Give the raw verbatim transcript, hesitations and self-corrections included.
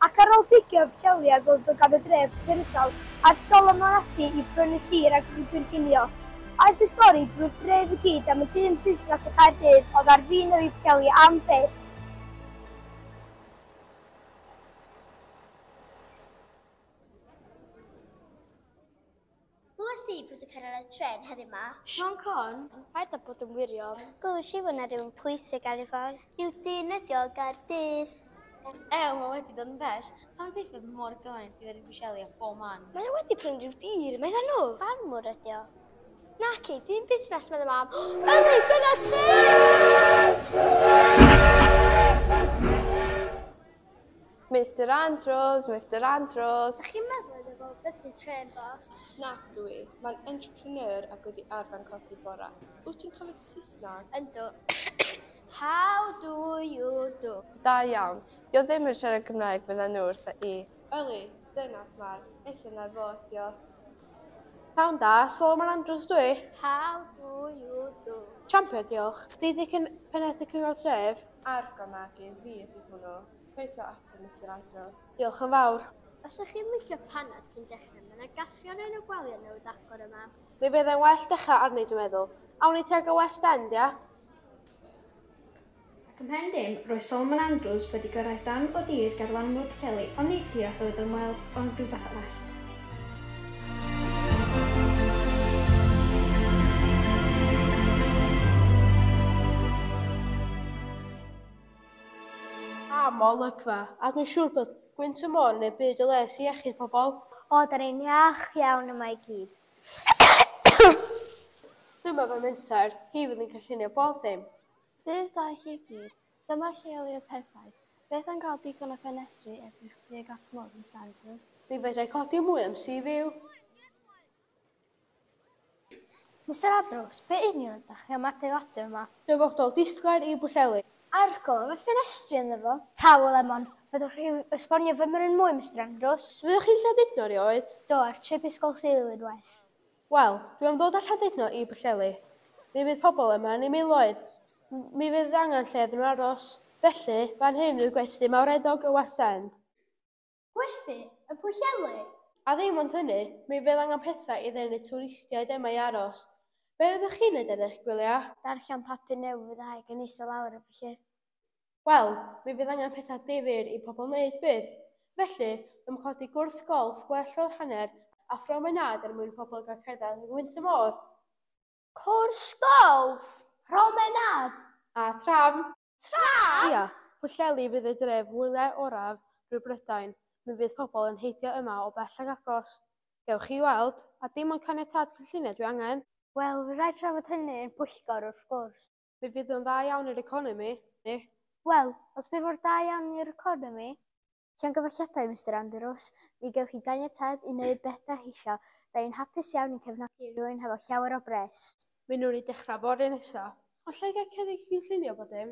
Ac ar ôl pigio Pwllheli a gweld bod gan y dref potensial, aeth Solomon ati i brynu tir ac i'w gynllunio. Aeth y stori drwy'r dref i gyd am y dyn busnes o Caerdydd oedd ar fin newid Pwllheli am byth. Glywes di bod yn cyrraedd y trên heddiw 'ma? Siôn Corn? Paid â bod yn wirion. Glywes i fod 'na rywun pwysig ar ei ffordd. Rhyw dyn ydi o Gaerdydd. Ew, mae wedi dod yn bell. Pam teithio mor gymaint i ddod i Bwllheli a bob man? Mae o wedi prynu rhyw dir, medda nhw. Ffarmwr ydi o. Naci, dyn busnes, medda mam. Yli, dyna ti! Mister Andrews, Mister Andrews. Ydych chi'n meddwl iddo fo byth trên bos? Nac dwi. Mae'n entrepreneur ac wedi arfer codi bora. Wyt ti'n cofio Saesneg? Yndw. How do you do? Da iawn. Dio ddim yn siarad Cymraeg fydda nhw wrtha i. Yli, dyna smart. Ella na fo ydi o. Pnawn da, Solomon Andrews dwi. How do you do? Champion, diolch. Chdi di cyn pennaeth y cyngor tref? Argo Magi, fi ydi hwnnw. Croeso ato, Mister Andrews. Diolch yn fawr. Os ydych chi'n licio panad cyn dechrau, mae yna gaffi o'r enw Gwalia newydd agor yma. Mi fydd e'n well dechrau arni, dwi'n meddwl. Awn ni tuag y West End, ia? Ac ymhen dim, roedd Solomon Andrews wedi gyrraedd darn o dir ger lanw'r Pwllheli, ond nid tir all oedd ymweld, ond rhywbeth arall. Am olygfa, a dwi'n siŵr bod gwynt y môr yn ei byd o les i iechyd pobl. O, da ni'n iach iawn yma i gyd. Dyma fy menter, hi fydd yn cynllunio bob dim. Dydd da i chi gyd, dyma lleoliad perffaith. Beth am gael digon o ffenestri edrych tuag at môr, Miss Andrews? Mi fedrai codi mwy am sea view. Mister Andrews, be union ydych chi am adeiladu yma? Dyfodol disglair i Bwllheli. Argol, efo ffenestri ynddo fo. Tawel Lemon, fyddwch chi'n esbonio fy mryn mwy, Mister Andrews? Fyddwch chi'n Llandudno erioed? Do, ar trip Ysgol Sul unwaith. Wel, dwi am ddod â Llandudno i Bwllheli. Mi fydd pobl yma yn ei miloedd. Mi fydd angen lle iddyn nhw aros. Felly, fan hyn yw'r gwesty mawreddog y West End. Gwesty? Y Pwllheli? A ddim ond hynny, mi fydd angen pethau i ddenu twristiaid yma i aros. Be fyddwch chi'n neud ar eich gwyliau? Darllen papur newydd a haig yn eistedd lawr y felly. Wel, mi fydd angen pethau difyr i pobl wneud bydd. Felly, dwi'n codi gwrs golff gwell o'r hanner a phromenâd er mwyn pobl gael cerdded yng ngwynt y môr. Cwrs golff? Promenâd? A tram. Tram? Ia, Pwllheli fydd y dref wyliau oraf drwy Brydain. Mi fydd pobl yn heidio yma o bell ag agos. Gewch chi weld, a dim ond caniatâd cynlluniau dwi angen. Wel, fydd rhaid trafod hynny yn pwyllgor wrth gwrs. Mi fydd o'n dda iawn i'r economi. Wel, os bydd mor da iawn i'r economi, llongyfarchiadau, Mister Andrews, mi gewch chi ganiatâd i wneud beth dach chi isio. Da ni'n hapus iawn i'n cefnogi rhywun hefo llawer o bres. Mi wnawn ni dechrau fory nesa. Ond lle gael cynnig cynllunio bod dim?